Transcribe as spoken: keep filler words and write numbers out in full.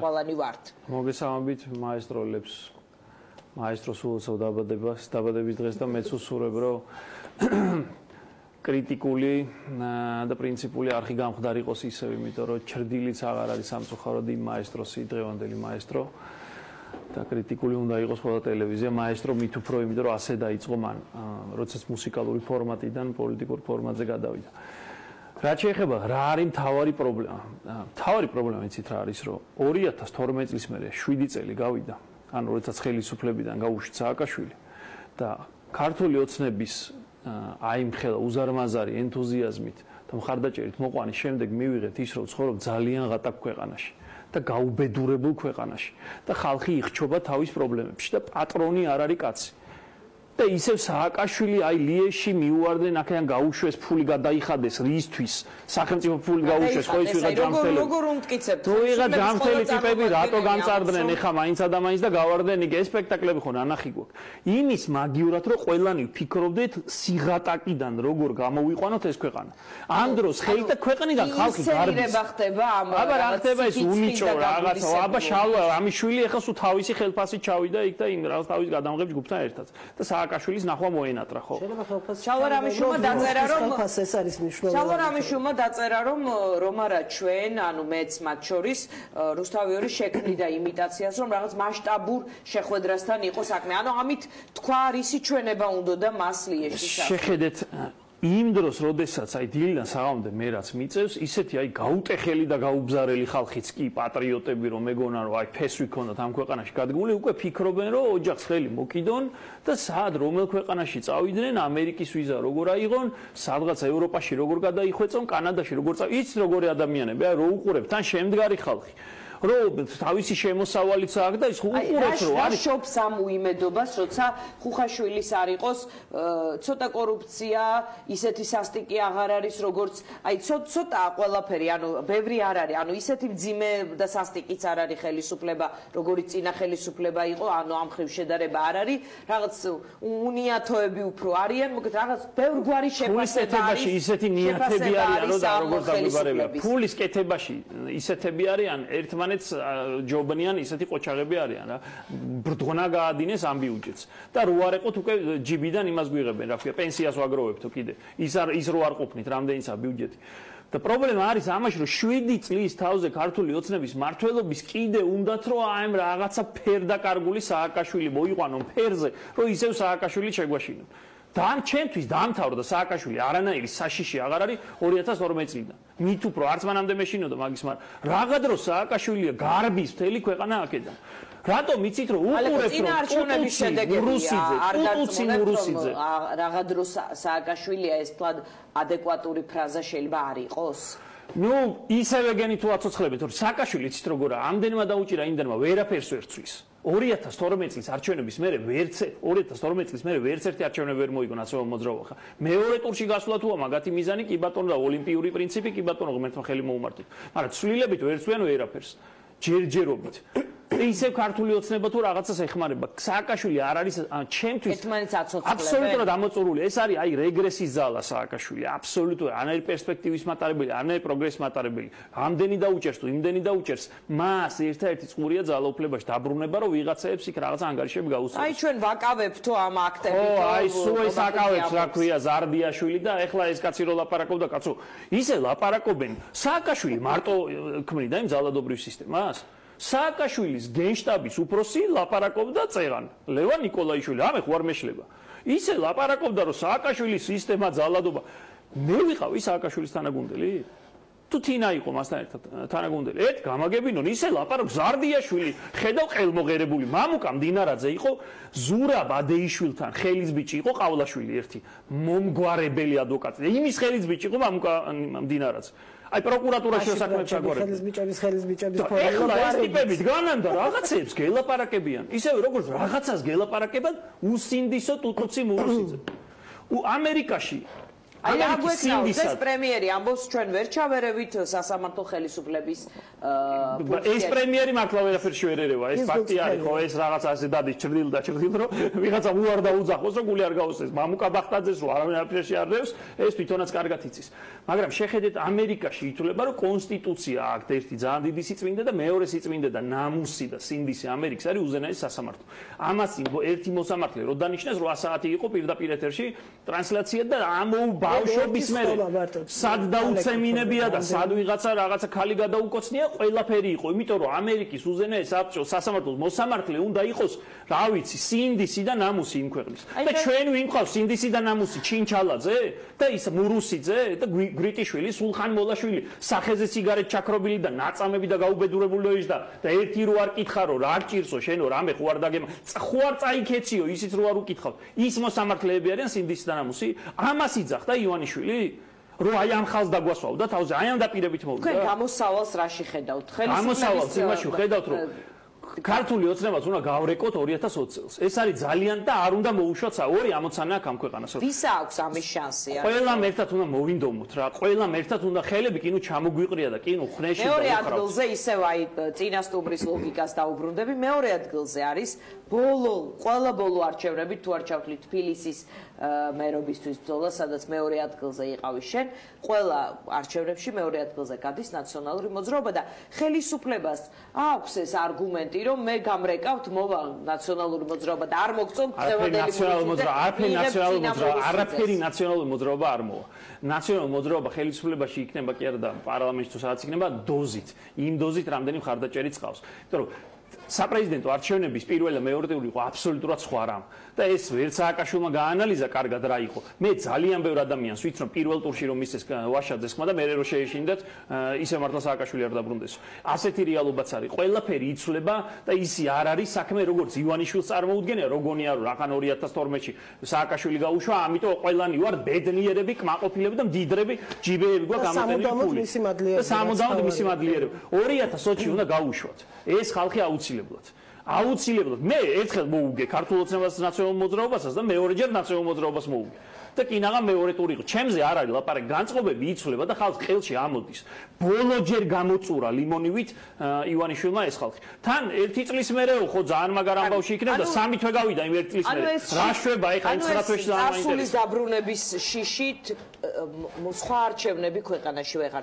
ყველანი ვართ. მოგესალმებით მაესტროლებს. მაესტროს ულოცავ დაბადებას, დაბადების დღეს და მეც უსურვებ, რომ კრიტიკული და პრინციპული არხი გამხდარ იყოს ისევ, იმიტომ რომ ჩრდილიც აღარ არის სამწუხაროდ იმ მაესტროსი, დღევანდელი მაესტრო და კრიტიკული უნდა იყოს ყველა ტელევიზია, მაესტრო მით უფრო, იმიტომ რომ ასე დაიწყო მან, როდესაც მუსიკალური ფორმატიდან პოლიტიკურ ფორმატზე გადავიდა. რაც შეეხება რა არის მთავარი პრობლემა? მთავარი პრობლემა იცით რა არის, რომ ორი ათას თორმეტ წლის მერე შვიდი წელი გავიდა, ანუ როდესაც ხელისუფლებიდან გაუშვით სააკაშვილი და ქართული ოცნების აიმხელა უზარმაზარი ენთუზიაზმით და მხარდაჭერით მოყვანის შემდეგ მივიღეთ ის, რომ ცხოვრობ ძალიან ღატაკ ქვეყანაში და გაუბედურებულ ქვეყანაში და ხალხი იხჩობა თავის პრობლემებში და პატრონი არ არის კაცი. და ისევ სააკაშვილი აი ლიეში მიუვარდნენ, აქედან გაუშვეს ფული გადაიხადეს რისთვის? სახელმწიფო ფული გაუშვეს, ხო ის ვიღა ჯანმრთელი. როგორ უმტკიცებთ? თუ ვიღა ჯანმრთელი ტიპები რატო გამწარდნენ ეხა მაინცა და მაინც და გავარდნენ იქ ეს სპექტაკლები ხო ნანახი გვაქვს. იმის მაგივრად რომ ყველანი ფიქრობდეთ სიღატაკიდან როგორ გამოვიყვანოთ ეს ქვეყანა. ამ დროს ხელთა ქვეყნიდან ხალხი გარბის. ინსერირება ხდება ამ აბა რა ხდება ეს უნიჭო რაღაცა. აბა შალვა ამის შვილი ეხა სულ თავისი ხელფასით ჩავიდა იქ და იმ რაღაც თავის გადამღებს ჯგუფთან ერთად. და სააკაშვილის ნახვა მოენატრა ხო? შალვარამიშვილმა დაწერა რომ ეს არის მნიშვნელოვანი. შალვარამიშვილმა დაწერა რომ რომ არა ჩვენ, ანუ მეც მათ შორის რუსთავიორი შექმნიდა იმიტაციას, რომ რაღაც მასშტაბურ შეხვედრასთან იყო საქმე. ანუ ამით თქვა რისი ჩვენება უნდა და მას ლიეში საქმე. შეხედეთ იმ დროს, როდესაც აი დილიდან საღამომდე მე რაც მიწევს, ისეთი აი გაუტეხელი და გაუბზარელი ხალხიც კი პატრიოტები რომ მეგონა რომ აი ფესვი ქონდათ ამ ქვეყანაში გადგმული, უკვე ფიქრობენ რომ ოჯახს ხელი მოკიდონ და სად რომელ ქვეყანაში წავიდნენ, ამერიკის ვიზა როგორ აიღონ, სადღაც ევროპაში როგორ გადაიხვეწონ, კანადაში როგორ წავიდნენ, იცით როგორი ადამიანები, აი რო უყურებთ, თან შემდგარი ხალხი. რომ თავისი შემოსავალიც აქვს და ის უყურებს რომ არის შობს ამ უიმედობას, როცა ხუხაშვილის არ იყოს ცოტა კორუფცია, ისეთი სასტიკი აღარ არის, როგორც აი ცოტა ყველაფერი, ანუ ბევრი არ არის, ანუ ისეთი მძიმე და სასტიკიც არ არის ხელისუფლება, როგორც წინა ხელისუფლება იყო, ანუ ამ ხრივ შედარება არ არის, რაღაც უნიათოები უფრო არიან, მოკლედ რაღაც ბევრგვარი შეფასება არის. ისეთი ნიათები არიან, და როგორც დაგვიბარებია. ფულის კეთებაში ისეთები არიან, ერთმანეთს ჯობნიან ისეთი ყოჩაღები არიან რა. ბრდღნა გაადინეს ამ ბიუჯეტს. და რო არ ეყოთ უკვე ჯიბიდან იმას გვიღებენ, რა ქვია, პენსიას ვაგროვებთო კიდე. ის არ ის რო არ ყოფნით, რამდენიცაა ბიუჯეტი. და პრობლემა არის ამაში, რომ შვიდი წლის თავზე ქართული ოცნების მართლობის კიდე უნდათ რომ აი ამ რაღაცა ფერდაკარგული სააკაშვილი მოიყვანონ ფერზე, რომ ისევ სააკაშვილი შეგვაშინონ. და ამ ჩემთვის დაამთავრა და სააკაშვილი არანაირი საშიში აღარ არის ორი ათას თორმეტ წლიდან. მით უფრო არც მანამდე მეშინოდა მაგის, მაგრამ რაღა დრო სააკაშვილია გარბის მთელი ქვეყანა აქედან. რატომ იცით რომ უყურებთ რომ არჩევნების შედეგებია არ გაწმუნდა რაღა დრო სააკაშვილია ეს თვად ადეკვატური ფრაზა შეიძლება არ იყოს? ნუ ისევე გენი თუ აცოცხლებით რომ სააკაშვილი იცით როგორა ამდენმა დაუჭირა იმდენმა ვერაფერს ვერ ცვის. ორი ათას თორმეტ წლის არჩევნების მერე ვერც ორი ათას თორმეტ წლის მერე ვერც ერთი არჩევნები ვერ მოიგო ნაცნობ მოძრაობა ხა. მეორე ტურში გასვლა თუა მაგათი მიზანი კი ბატონო და ოლიმპიური პრინციპი კი ბატონო ღმერთმა ხელი მოუმართეთ. მაგრამ ცვლილებით ვერ ცვიან ვერაფერს. ჯერჯერობით. ისევ ქართული ოცნება თუ რაღაცას ეხმარება. სააკაშვილი არ არის ჩემთვის ერთმანეთს აცოცხლებენ. აბსოლუტურად ამოწურული. ეს არის აი რეგრესის ზალა სააკაშვილი. აბსოლუტურად არანაირი პერსპექტივის მატარებელი, არანაირი პროგრესის მატარებელი. ამდენი დაუჭერს თუ იმდენი დაუჭერს, მას ერთადერთი წყურია ძალაუფლებაში დაბრუნება, რომ ვიღაცაებს იქ რაღაც ანგარიშები გაუსწრებს. აი ჩვენ ვაკავებთ ამ აქტებით. ო აი სულ ეს აკავებს რა ქვია ზარდიაშვილი და ეხლა ეს კაცი რო ლაპარაკობდა, კაცო, ისე ლაპარაკობენ. სააკაშვილი მარტო ქმნიდა იმ ძალადობრივ სისტემას. სააკაშვილის გენშტაბის უფროსი ლაპარაკობდა წერან ლევან ნიკოლაიშვილი, ამე ხო არ მეშლება. ისე ლაპარაკობდა რომ სააკაშვილის სისტემა ძალადობა. მე ვიყავი სააკაშვილის თანაგუნდელი? თუ თინა იყო მასთან ერთად თანაგუნდელი. ერთ გამაგებინონ ისე ლაპარაკობს ზარდიაშვილი, ხედავ ყელმოღერებული მამუკა მდინარაძე იყო, ზურაბ ადეიშვილთან ხელის ბიჭი იყო ყავლაშვილი ერთი, მომგვარებელი ადვოკატი. იმის ხელის ბიჭი იყო მამუკა მდინარაძე. აი პროკურატურაში საქმეებს აგვარებენ. ხელის ბიჭების ხელის ბიჭების ეხლა ეს ტიპები დგანან და რაღაცებს გელაპარაკებიან. ისევე როგორც რაღაცას გელაპარაკებენ უსინდისო ტუტუცი მურუსიძე. ამერიკაში აი რა გვექნავს ეს პრემიერი ამბობს ჩვენ ვერ ჩავერევით სასამართლო ხელისუფლების ეს პრემიერი მართლა ვერაფერში ვერ ერევა ეს ფაქტი არის ხო ეს რაღაცა ასე დადის ჭრდილ და ჭრდილ რომ ვიღაცა უარ დაუძახოს რომ გული არ გაუსწეს მამუკა ბახტაძეს რომ არავინ არაფერში არ რევს ეს თვითონაც კარგად იცის მაგრამ შეხედეთ ამერიკაში ითვლება რომ კონსტიტუცია აქვს ერთი ძალიან დიდი სიწმინდე და მეორე სიწმინდე და ნამუსი და სინდისი ამერიკის არის უზენაესი სასამართლო ამას ერთი მოსამართლე რო დანიშნეს რვა საათი იყო პირდაპირ ეთერში ტრანსლაცია და ამოუ ბავშვების მერე სად დაუცემინებია და სად ვიღაცა რაღაცა ხალი გადაუკოცნია ყველაფერი იყო იმიტომ რომ ამერიკის უზენაეს საბჭოს სასამართლოს მოსამართლე უნდა იყოს რა ვიცი სინდისი და ნამუსი იმ ქვეყნის და ჩვენ ვინ ყავს სინდისი და ნამუსი ჩინჩალაძე და ის მურუსიძე და გრიტიშვილი სულხან მოლაშვილი სახეზე სიგარეტ ჩაქრობილი და ნაწამები და გაუბედურებული და და ერთი რო არ კითხა რომ რა გჭირსო შენო რამე ხო არ დაგემ ხო არ წაიქეციო ისიც რო არ უკითხავ ის მოსამართლეები არიან სინდისი და ნამუსი ამას იძახდა ივანიშვილი რომ აი ამ ხალხს დაგვასვავ და თავზე აი ამ დაპირებით მოვიდა თქვენ გამოსავალს რაში ხედავთ ხელისუფლების იმაში ხედავთ რომ ქართული ოცნებაც უნდა გავრეკოთ ორი ათას ოცი წელს ეს არის ძალიან და არ უნდა მოუშვათ ორი ამოცანა აქ ამ ქვეყანას ვისა აქვს ამის შანსი ყველამ ერთად უნდა მოვინდომოთ რა ყველამ ერთად უნდა ხელები კინო ჩამოგვიყრია და კინო ხნეში და მეორე ადგილზე ისევ აი წინასტუმრის ლოგიკას დაუბრუნდები მეორე ადგილზე არის ბოლო ყველა ბოლო არჩევნები თუ არ ჩავთვლით თბილისის მერობისთვის ბრძოლა სადაც მეორე ადგილზე იყავი შენ ყველა არჩევნებში მეორე ადგილზე გადის ნაციონალური მოძრაობა და ხელისუფლებას აქვს ეს არგუმენტი რომ მე გამრეკავთ მოვა ნაციონალური მოძრაობა და არ მოგწონთ წევადელი მოძრაობა არაფერი ნაციონალური მოძრაობა არაფერი ნაციონალური მოძრაობა არ მოვა ნაციონალური მოძრაობა ხელისუფლებაში იქნება კი არა და პარლამენტში თუ სადაც იქნება დოზით იმ დოზით რამდენი მხარდაჭერიც ყავს იმიტომ რომ საპრეზიდენტო არჩევნების პირველი და მეორე ტური იყო აბსოლუტურად სხვა რამ და ეს ვერც სააკაშვილმა გაანალიზა კარგად რა იყო მე ძალიან ბევრ ადამიანს ვიცი რომ პირველ ტურში რომ მისცეს ვაშაძეს ხმა და მე რო შეეშინდათ ისე მართლა სააკაშვილი არ დაბრუნდეს ასეთი რეალობაც არის ყველაფერი იცვლება და ისი არ არის საქმე როგორც ივანიშვილს წარმოუდგენია როგორია რომ რახან ორი ათას თორმეტში სააკაშვილი გაუშვა ამიტომ ყველანი ვარ ბედნიერები კმაყოფილები და მდიდრები ჯიბეები გვაქვს გამოტენილი ფული და სამუდამოდ მისი მადლიერება ორი ათას ოცი უნდა გაუშვათ ეს ხალხი აუცილებლად აუცილებლად მე ერთხელ მოუგე ქართულ ოცნებას ნაციონალურ მოძრაობასაც და მეორეჯერ ნაციონალურ მოძრაობას მოუგე და კინაღა მეორე ტური იყო ჩემზე არ არის ლაპარაკი განწყობები იცვლება და ხალხი ხელში ამოდის ბოლოჯერ გამოწურა ლიმონივით ივანიშვილმა ეს ხალხი თან ერთი წლის მერეო ხო ძალიან მაგარ ამბავში იქნება და სამი თვე გავიდა იმ ერთი წლის მერე რა შვება ეხა იმ ცხრა თვეში ძალიან მაინტერესებს წარსულის დაბრუნების შიშით სხვა არჩევნები ქვეყანაში ვეღარ